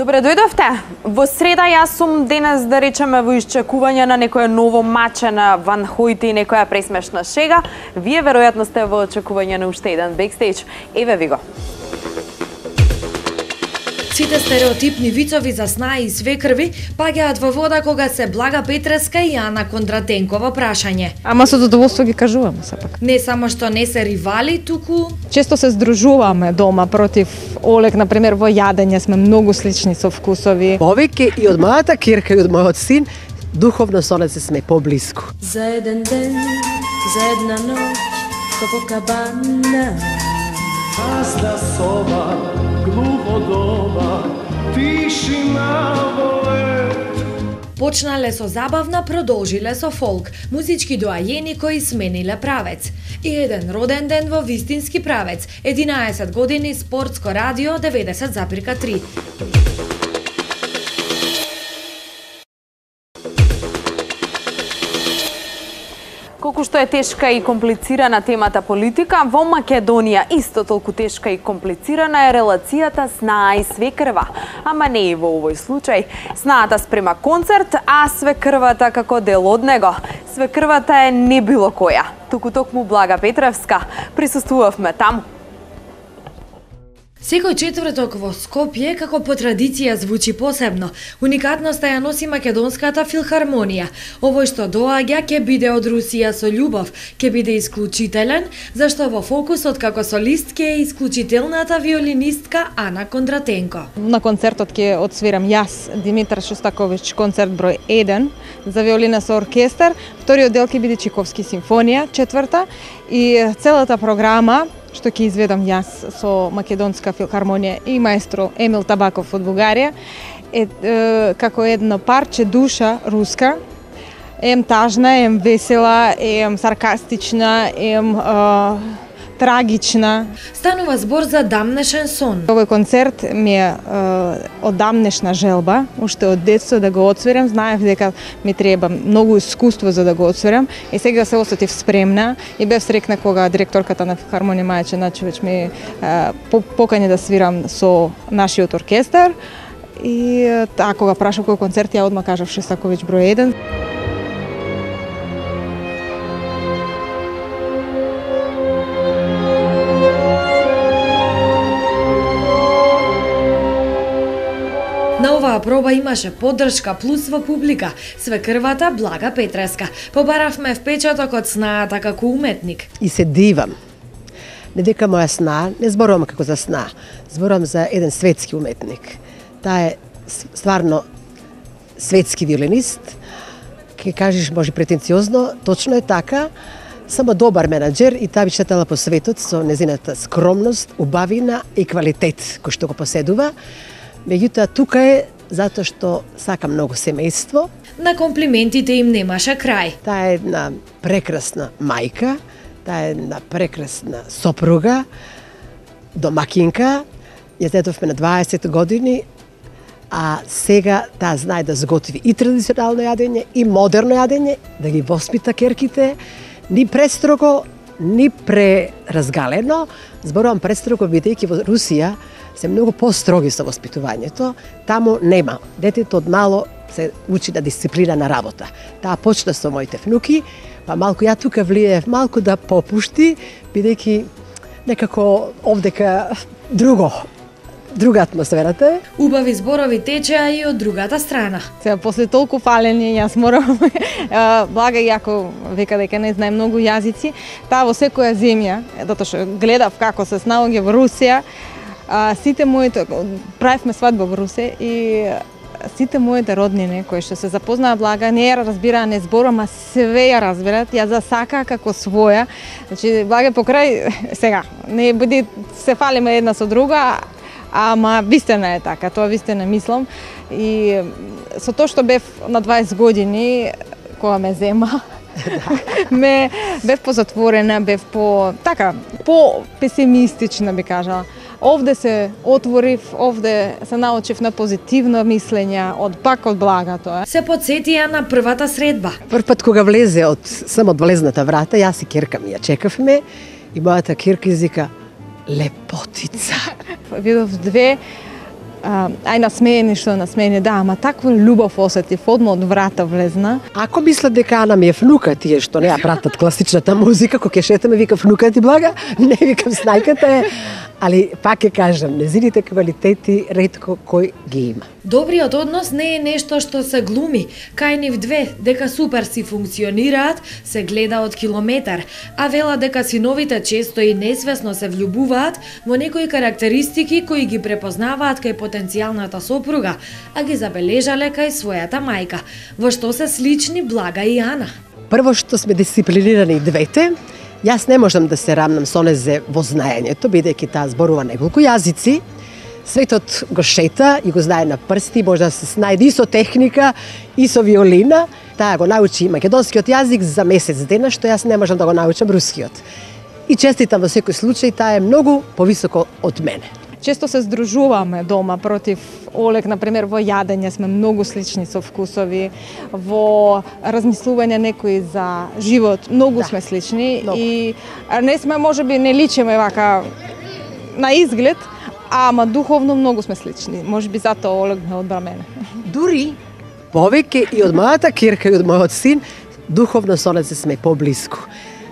Добре дојдовте. Во среда јас сум денес, да речеме, во исчекување на некое ново маче на Ван Хојте и некоја пресмешна шега. Вие веројатно сте во очекување на уште еден бекстејдж. Еве ви го. Сите стереотипни вицови за снаи и свекрви паѓаат во вода кога се Блага Петреска и Ана Кондратенкова прашање. Ама со задоволство ги кажуваме сепак. Не само што не се ривали, туку Често се здружуваме дома против Олег, например, во јадење сме многу слични со вкусови. Повеќе и од мојата кирка и од мојот син, духовно со нас сме поблиску. За еден ден, за една ноќ, Копакабана. Празна соба, глухо дома, тишина во лет. почнале со забавна, продолжиле со фолк, музички доајени кои смениле правец. И еден роден ден во вистински правец, 11 години спортско радио 90,3. Колку што е тешка и комплицирана темата политика, во Македонија исто толку тешка и комплицирана е релацијата снаа и свекрва. Ама не и во овој случај. Снаата спрема концерт, а свекрвата како дел од него. Свекрвата е не било која, туку токму Блага Петревска. Присуствувавме таму. Секој четврток во Скопје, како по традиција, звучи посебно. Уникатноста ја носи Македонската филхармонија. Овој што доаѓа ќе биде од Русија со љубов, ќе биде исклучителен, зашто во фокусот како солист ќе е исклучителната виолинистка Ана Кондратенко. На концертот ќе отсвирам јас, Димитар Шостаковиќ, концерт број 1 за виолина со оркестар. Вториот дел ќе биде Чиковски симфонија, четврта, и целата програма што ќе изведам јас со Македонска филхармонија и маестро Емил Табаков од Бугарија, е како едно парче душа руска, ем тажна, ем весела, ем саркастична, ем трагична. Станува збор за дамнешен сон. Овој концерт ми е одамнешна желба, уште од детство да го отсвирам. Знаев дека ми треба многу искуство за да го отсвирам и сега се осетив спремна и бев срекна кога директорката на филхармонија Маја Ченачевиќ ми покани да свирам со нашиот оркестар и кога прашав кој концерт, ја одма кажав Шостаковиќ број 1. На оваа проба имаше поддршка плюс во публика, свекрвата Блага Петреска. Побаравме впечаток од снаата како уметник. И се дивам. Не дека моја сна, не зборувам како за сна, зборувам за еден светски уметник. Таа е стварно светски виолинист. Ке кажеш може претенциозно, точно е така. Само добар менаџер и таа би шетала по светот со незината скромност, убавина и квалитет кој што го поседува. Меѓутоа, тука е затоа што сака многу семејство. На комплиментите им немаше крај. Таа е една прекрасна мајка, таа е една прекрасна сопруга, домакинка. Ја дедовме на 20 години, а сега таа знае да сготви и традиционално јадење, и модерно јадење, да ги воспита керките, ни престрого, ни преразгалено. Зборувам престрого, бидејќи во Русија се многу построги со воспитувањето, таму нема. Детето од мало се учи на дисциплинана работа. Таа почна со моите внуки, па малку ја тука влијаев малку да попушти, бидејќи некако овдека друга атмосферата е. Убави зборови течеа и од другата страна. Сега, после толку фалење, јас морам, Блага јако века дека не знае многу јазици, таа во секоја земја, затоа што гледав како се снаоѓа во Русија, сите моите, правевме свадба во Русе и сите моите роднини кои што се запознаа Блага не ја разбираа, не зборам, а све ја разбират, ја засака како своја. Значи Блага покрај сега не биде се фалиме една со друга, ама вистина е така, тоа вистина мислам. И со тоа што бев на 20 години кога ме зема, бев позатворена, бев по песимистична би кажала. Овде се отворив, овде се научив на позитивно мислење од Блага тоа. Се подсетија на првата средба. Прв пат кога влезе само од влезната врата, јас и керка ми ја чекавме и мојата керка извика лепотица. Видов две ај насмеени што насмеени, да, ама таква љубов осетив, одма од врата влезна. Ако мислат дека Ана ми е внука, тие што не ја пратат класичната музика, кога ќе шетаме, вика внука ти Блага, не викам снајката е, али пак ќе кажам, незините квалитети ретко кој ги има. Добриот однос не е нешто што се глуми. Кај нив две, дека супер си функционираат, се гледа од километар, а вела дека синовите често и несвесно се влюбуваат во некои карактеристики кои ги препознаваат кај потенцијалната сопруга, а ги забележале кај својата мајка, во што се слични Блага и Ана. Прво што сме дисциплинирани двете, јас не можам да се рамнам со незе во знаењето, бидејќи таа зборува неколку јазици. Светот го шета и го знае на прсти, може да се снајде и со техника, и со виолина. Таа го научи македонскиот јазик за месец дена, што јас не можам да го научам рускиот. И честитам во секој случај, таа е многу повисоко од мене. Често се здружуваме дома против Олег, например, во јадење сме многу слични со вкусови, во размислување некои за живот, многу сме слични многу. И не сме, можеби не личиме вака на изглед, ама духовно многу сме слични. Можеби затоа Олег ме одбра мене. Дури повеќе и од мојата кирка и од мојот син, духовно со незе сме поблиску.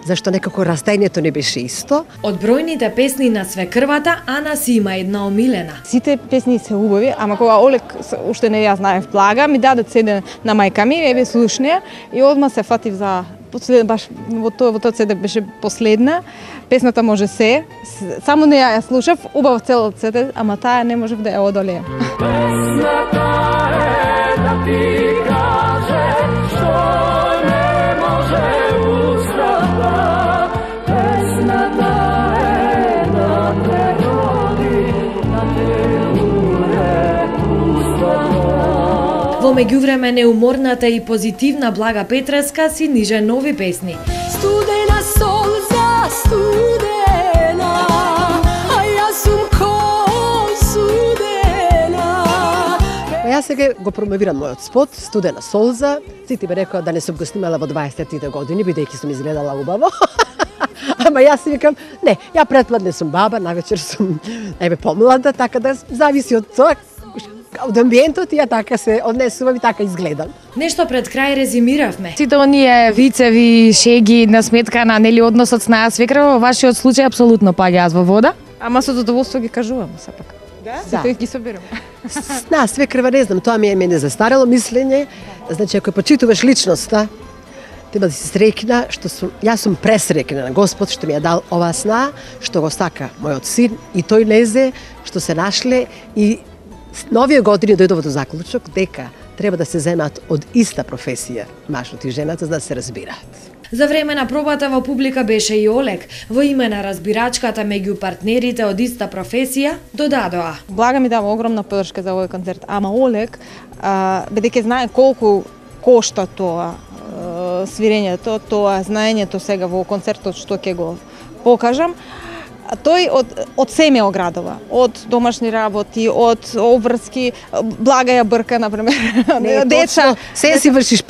Зашто некако растењето не беше исто. Од бројните песни на свекрвата, Ана си има една омилена. Сите песни се убави, ама кога Олег уште не ја знаев Блага, ми даде седе на мајка ми, еве слушне и одма се фатив за баш во тој седе беше последна. Песната може се, само не ја слушав, убав целот седе, ама таа не можев да ја одолеам. Песната е да ти каже што не може устата. Песната е да те роди, да те уре устата. Во меѓувреме неуморната и позитивна Блага Петреска си ниже нови песни. Студена солза, студена, а јас сум ко судена. Јас сега го промовирам мојот спот, Студена солза. Сите ме рекоа да не сум го снимала во 20-тите години, бидејќи сум изгледала убаво. Ама јас си викам, не, ја претпладне сум баба, навечер сум помлада, така да зависи од тоа, од амбиентот, и ја така се однесувам и така изгледам. Нешто пред крај резимиравме. Сите оние вицеви, шеги на сметка на нели односот с наја свекрва, во вашиот случај апсолутно паѓаат во вода. Ама со задоволство ги кажувам сепак. Да. Сите ги собирам. На свекрва не знам, тоа ми е мене застарело мислење. Значи, ако почитуваш личноста, треба да си среќна, јас сум пресреќна на Господ што ми ја дал оваа сна, што го сака мојот син и тој лезе, што се нашле и на овие години дојдов до заклучок дека треба да се земат од иста професија, мажот и жената, за да се разбираат. За време на пробата во публика беше и Олег. Во име на разбирачката меѓу партнерите од иста професија, додадоа. Блага ми дава огромна подршка за овој концерт, ама Олег, бидејќи знае колку кошта тоа свирењето, тоа знаењето сега во концертот што ќе го покажам, тој од се ме оградува, од домашни работи, од обврски, Блага ја брка, например, деца. Се си вршиш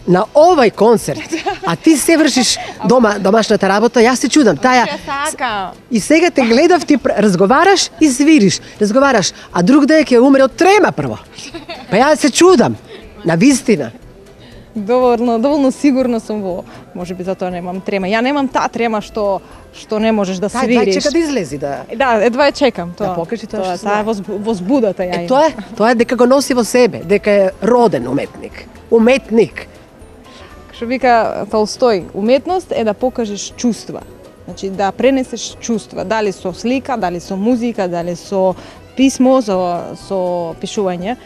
на овој концерт, а ти се вршиш домашната работа, јас се чудам. И сега те гледав, ти разговараш и свириш, а друг ден ќе умре од трема прво. Па јас се чудам, на вистина. Доволно сигурно сум во, можеби затоа немам трема. Ја немам таа трема што не можеш да свириш. Чека да излези да. Да, едва ја чекам тоа. Да покажи тоа што таа возбудата ја има. Тоа е дека го носи во себе, дека е роден уметник. Уметник. Што вика Толстој, уметност е да покажеш чувства. Значи да пренесеш чувства, дали со слика, дали со музика, дали со писмо, со пишување.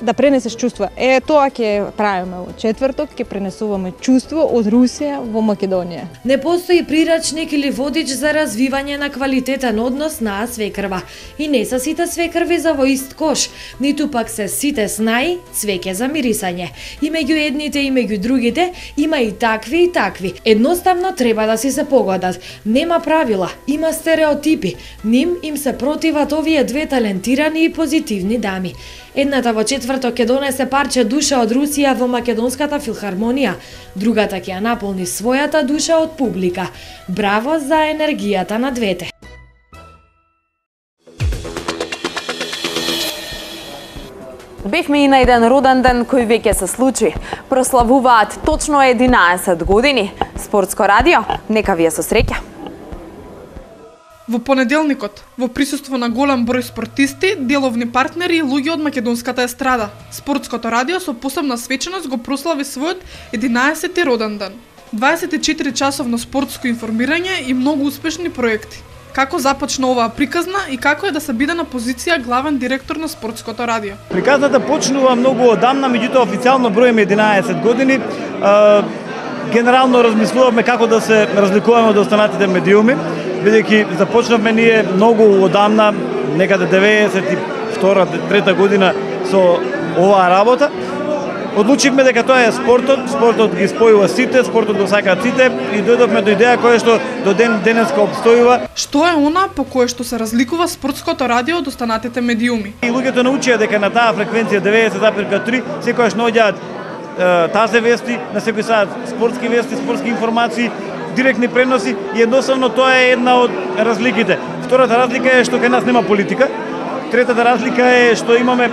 Да пренесеш чувства. Тоа ќе правиме во четврток, ќе пренесуваме чувство од Русија во Македонија. Не постои прирачник или водич за развивање на квалитетен однос на свекрва. И не се сите свекрви за во ист кош, ниту пак се сите снаи цвеќе за мирисање. И меѓу едните и меѓу другите има и такви. Едноставно треба да си се погодат. Нема правила, има стереотипи. Ним им се противат овие две талентирани и позитивни дами. Едната во четврток ќе донесе парче душа од Русија во Македонската филхармонија, другата ќе ја наполни својата душа од публика. Браво за енергијата на двете! Бевме и на еден роден ден кој веќе се случи. Прославуваат точно 11 години. Спортско радио, нека ви е со среќа. Во понеделникот, во присуство на голем број спортисти, деловни партнери и луѓе од македонската естрада, Спортското радио со посебна свеченост го прослави својот 11-ти роден ден. 24 часовно спортско информирање и многу успешни проекти. Како започна оваа приказна и како е да се биде на позиција главен директор на Спортското радио? Приказната почнува многу одамна, меѓутоа официјално броиме 11 години. Генерално размислувавме како да се разликуваме од останатите медиуми, бидејќи започнавме ние многу одамна, некаде 92-3 година со оваа работа. Одлучивме дека тоа е спортот, спортот ги спојува сите, спортот го сакаат сите и дојдовме до идеја која што до денеска обстојува. Што е она по кое што се разликува Спортското радио од останатите медиуми? И луѓето научија дека на таа фреквенција 90,3 секогаш наоѓаат тазе вести, на секој саат спортски вести, спортски информации, директни преноси и едноставно тоа е една од разликите. Втората разлика е што кај нас нема политика. Третата разлика е што имаме,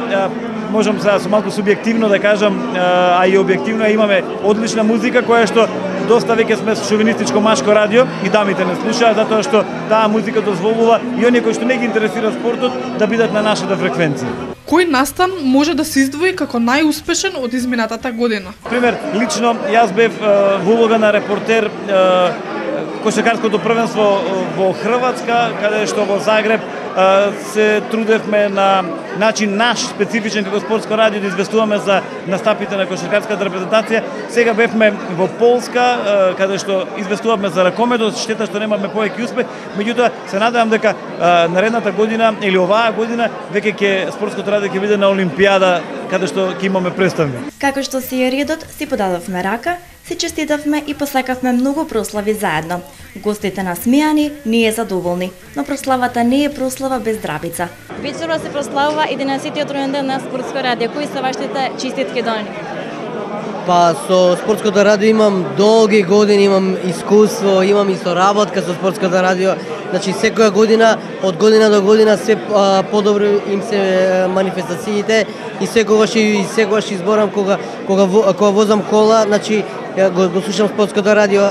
можам сега со малку субјективно да кажам, а и објективно имаме одлична музика која што доста веќе сме шовинистичко машко радио и дамите не слушаат затоа што таа музика дозволува и оние кои што не ги интересира спортот да бидат на нашата фреквенција. Кој настан може да се издвои како најуспешен од изминатата година? Пример, лично јас бев во улога на репортер кошаркарското првенство во Хрватска, каде што во Загреб се трудевме на начин наш специфичен како Спортско радио да известуваме за настапите на кошаркарската репрезентација. Сега бевме во Полска, каде што известувавме за ракометот, штета што немаме повеќе успех, меѓутоа се надевам дека наредната година или оваа година веќе ќе Спортското радио ќе биде на Олимпијада, каде што ќе имаме представник. Како што си е редот, си подадовме рака, си честитавме и посакавме многу прослави заедно. Гостите насмејани, ние задоволни, но прославата не е прослава без здравица. Вечерва се прославува 11-тиот роден ден на Спортско радио. Кои се вашите честитки до нив? Па со Спортското радио имам долги години, имам искуство, имам и соработка со Спортското радио. Значи секоја година, од година до година се подобро им се манифестациите и секогаш изборам кога возам кола, значи го слушам Спортското радио,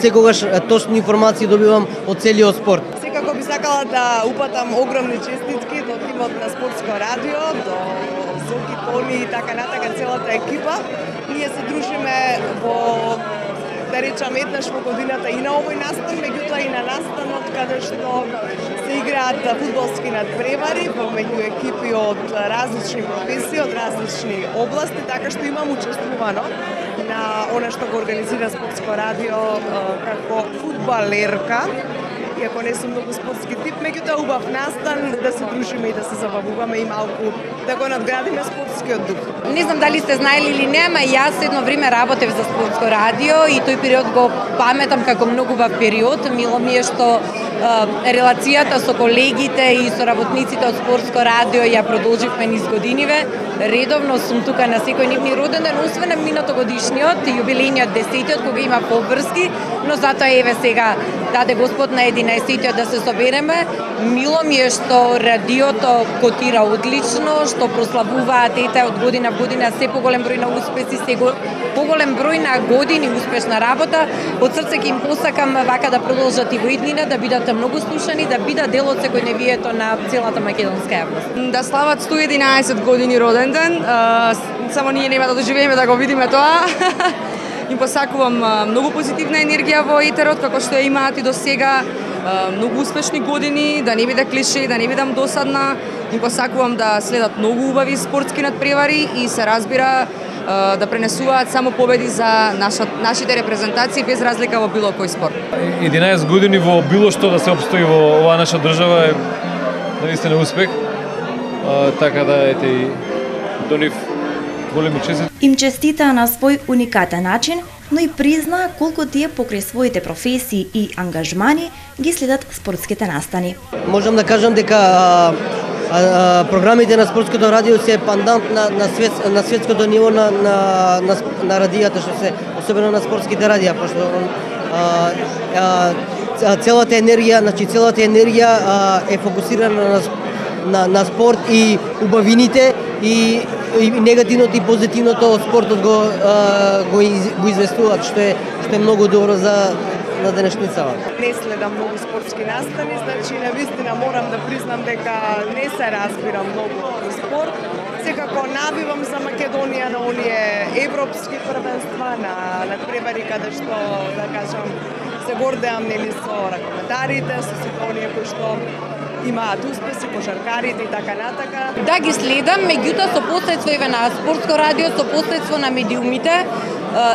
секогаш точни информации добивам од целиот спорт. Секако би сакала да упатам огромни честитки до тимот на Спортско радио, до Соки, Тони и така натака целата екипа. Ние се дружиме во, да речам, еднаш во годината и на овој настан, меѓутоа и на настанот каде што се играат фудбалски надпревари помеѓу екипи од различни професии, од различни области, така што имам учествувано на она што го организира Спортско радио како фудбалерка. Иако не сум многу спортски тип, меѓутоа убав настан да се дружиме и да се забавуваме и малку да го надградиме спортскиот дух. Не знам дали сте знаели или не, ама јас едно време работев за Спортско радио и тој период го паметам како многу убав период. Мило ми е што релацијата со колегите и со работниците од Спортско радио ја продолживме низ годиниве. Редовно сум тука на секој нивни роден ден, освен на минатогодишниот, јубилејниот 10-тиот кога има побрски, но затоа еве сега даде Господ на 11-тиот да се собереме. Мило ми е што радиото котира одлично, што прославуваат од година в година се поголем број на успеси, се поголем број на години успешна работа. Од срце ќе им посакам вака да продолжат и во иднина, да бидат многу слушани, да бидат дел од секојдневието на целата македонска јавност. Да слават 111 години роден ден, само ние нема да доживееме да го видиме тоа. Им посакувам многу позитивна енергија во етерот, како што ја имаат и до сега, многу успешни години, да не биде клише, да не бидам досадна. Им посакувам да следат многу убави спортски надпревари и се разбира да пренесуваат само победи за нашите репрезентации без разлика во било кој спорт. 11 години во било што да се обстои во оваа наша држава е наистина успех. Така да ете и до нив големи честитки. Им честита на свој уникатен начин, но и призна колку тие покрај своите професии и ангажмани ги следат спортските настани. Можам да кажам дека програмите на Спортското радио се пандант на светското ниво на радијата, што се особено на спортските радија, пошто целата енергија е фокусирана на спорт и убавините и негативното и позитивното од спортот го известуваат, што е многу добро за на денешницава. Не следам многу спортски настани, значи навистина морам да признам дека не се разбирам многу од спорт. Секако навивам за Македонија на оние европски првенства, на надпревари каде што, да кажам, се гордеам нели со ракометарите, со сите оние кои што имаат успеси, кошаркарите и така натака. Да ги следам, меѓутоа со посредство на спортско радио, со посредство на медиумите,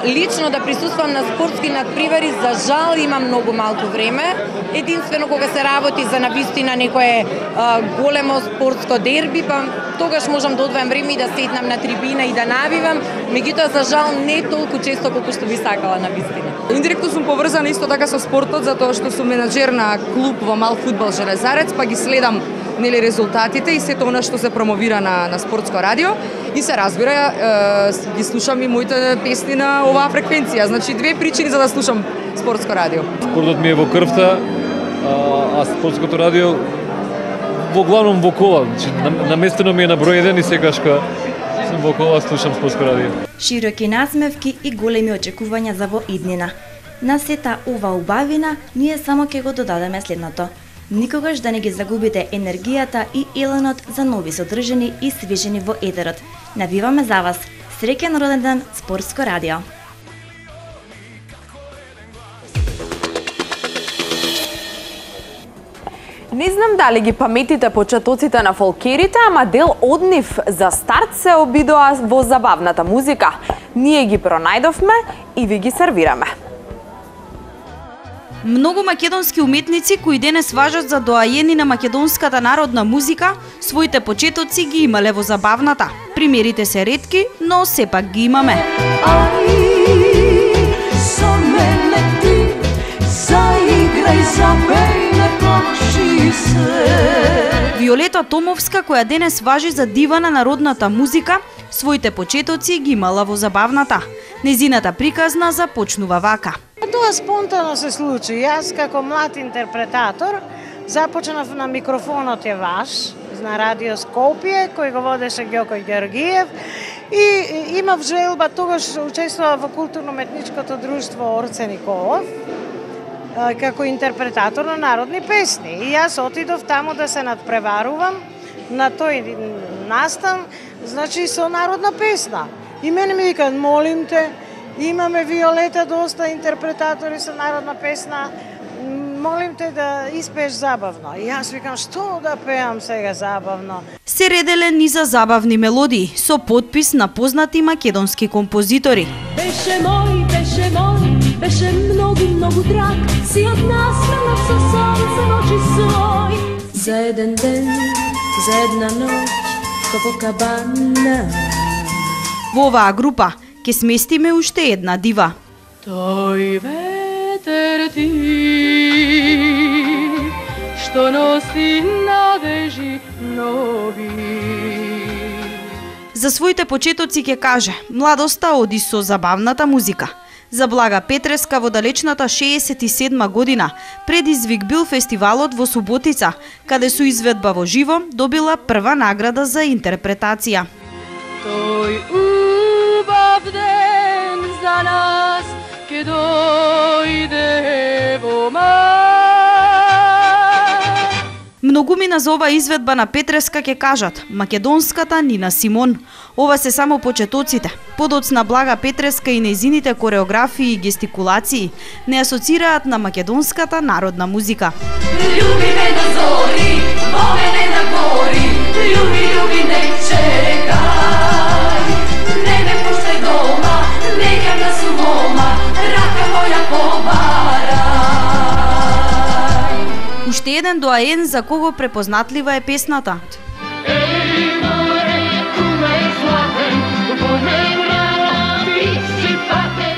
лично да присуствам на спортски надпревари, за жал имам многу малку време. Единствено кога се работи за навистина некое големо спортско дерби, па тогаш можам да одвојам време и да седнам на трибина и да навивам, меѓутоа за жал не толку често колку што би сакала навистина. Индиректно сум поврзана исто така со спортот, затоа што сум менаџер на клуб во мал фудбал Железарец, па ги следам нели резултатите и сето она што се промовира на спортско радио и се разбира ги слушам и моите песни на оваа фреквенција. Значи две причини за да слушам спортско радио. Спортот ми е во крвта, а спортското радио во главном во кола. Значи наместено ми е на број 1 и секогаш кога сум во кола слушам спортско радио. Широки насмевки и големи очекувања за во иднина. На сета ова убавина ние само ќе го додадеме следното. Никогаш да не ги загубите енергијата и еленот за нови содржини и свежени во етерот. Навиваме за вас. Среќен роден ден, Спортско радио. Не знам дали ги паметите почетоците на фолкерите, ама дел од нив за старт се обидоа во забавната музика. Ние ги пронајдовме и ви ги сервираме. Многу македонски уметници кои денес важат за доајени на македонската народна музика, своите почетоци ги имале во забавната. Примерите се ретки, но сепак ги имаме. Ај, со мене ти, заиграј, запеј, не плачи се. Виолета Томовска, која денес важи за дива на народната музика, своите почетоци ги имала во забавната. Незината приказна започнува вака. Тоа спонтано се случи. Јас како млад интерпретатор започнав на Микрофонот е ваш на Радио Скопје, кој го водеше Ѓоко Ѓоргиев и имав желба, тогаш учествував во културно-метничкото друштво Орце Николов како интерпретатор на народни песни. И јас отидов таму да се надпреварувам на тој настан, значи со народна песна. И мене ми викаат, молим те, имаме Виолета доста интерпретатори со народна песна, молим те да испееш забавно. И јас викам, што да пеам сега забавно? Се ределе низа забавни мелодии со потпис на познати македонски композитори. Беше мој, беше многу драг, си од нас мелат со сонце ночи свој. За еден ден, за една ноќ, Копакабана. Во оваа група ќе сместиме уште една дива. Тој ветер ти, што носи надежи нови. За своите почетоци ќе каже, младоста оди со забавната музика. За Блага Петреска во далечната 67 година предизвик бил фестивалот во Суботица, каде со изведба во живо добила прва награда за интерпретација. Тој убав ден за нас ке дојде во май. Многумина за ова изведба на Петреска ќе кажат македонската Нина Симон. Ова се само почетоците. Подоцна Блага Петреска и нејзините кореографии и гестикулации не асоцираат на македонската народна музика. Љуби ме до зори, во мене на гори, љуби не чекај. Не ме пуштај дома, не ќам да сум мома, рака моја побарај. Уште еден доаен за кого препознатлива е песната.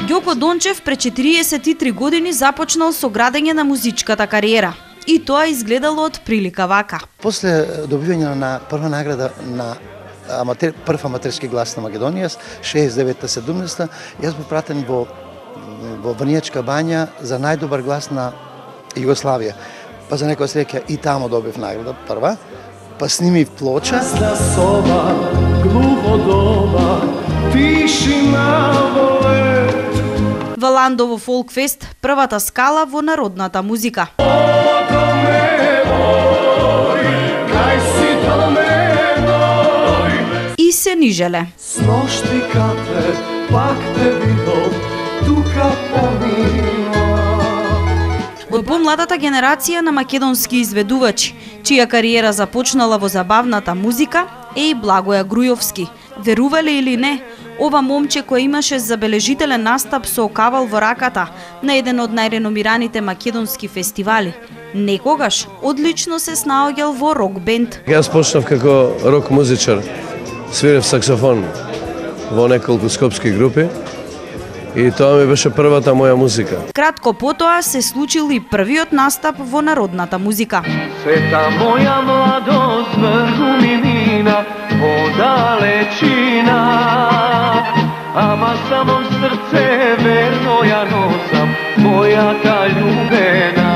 Ѓоко Дончев пред 43 години започнал со градење на музичката кариера. И тоа изгледало од прилика вака. После добивање на прва награда на прв аматерски глас на Македонија, 69-70, јас бев пратен во Врнијачка бања за најдобар глас на Југославија. Па за некоја среќа и таму добив награда прва. па сними плоча. Prazna soba, gluho doba, tišina volet. Валандово Фолкфест, првата скала во народната музика. И се нижеле. S nošti kape, pak te vidom, tuka pomila. Од помладата генерација на македонски изведувачи, чија кариера започнала во забавната музика, е и Благоја Грујовски. Верувале или не, ова момче кој имаше забележителен настап со кавал во раката на еден од најреномираните македонски фестивали, некогаш одлично се снаоѓал во рок бенд. Јас почнав како рок музичар, свирев саксофон во неколку скопски групи и тоа ми беше првата моја музика. Кратко потоа се случил и првиот настап во народната музика. Света моја младост врзу ми мина во далечина, ама само в срце верно ја носам мојата љубена.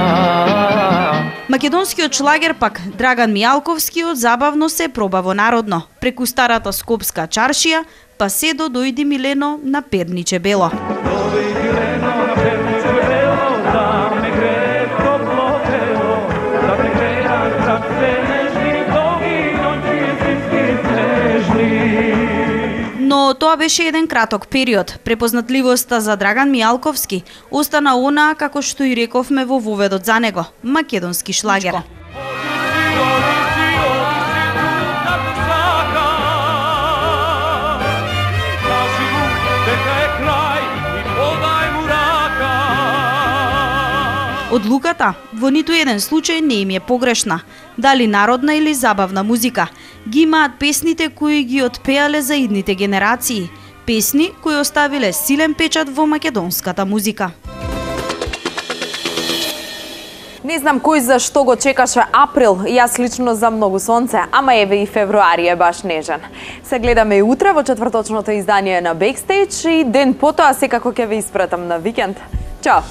Македонскиот шлагер пак Драган Мијалковски забавно се проба во народно, преку старата скопска чаршија, па се до дојди Милено на Перниче Бело. Но тоа беше еден краток период. Препознатливоста за Драган Мијалковски остана онаа како што и рековме во воведот за него, македонски шлагер. Одлуката во ниту еден случај не им е погрешна. Дали народна или забавна музика, ги имаат песните кои ги отпеале за идните генерации. Песни кои оставиле силен печат во македонската музика. Не знам кој за што го чекаше април, јас лично за многу сонце, ама еве и февруари е баш нежен. Се гледаме и утре во четврточното издание на Бекстејдж и ден потоа секако ќе ве испратам на викенд. Чао!